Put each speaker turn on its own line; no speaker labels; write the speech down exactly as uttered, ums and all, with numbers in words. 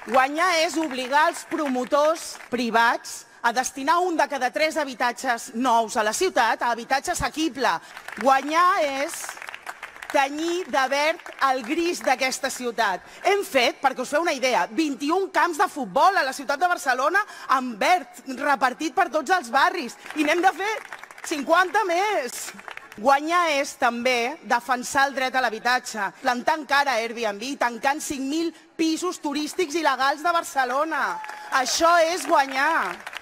Guanyar és obligar els promotors privats a destinar un de cada tres habitatges nous a la ciutat a habitatge assequible. Guanyar és tenyir de verd el gris d'aquesta ciutat. Hem fet, perquè us feu una idea, vint-i-un camps de futbol a la ciutat de Barcelona amb verd, repartit per tots els barris. I n'hem de fer cinquanta més. Guanyar és també defensar el dret a l'habitatge, plantant cara a Airbnb, tancant cinc mil pisos turístics il·legals de Barcelona. Això és guanyar.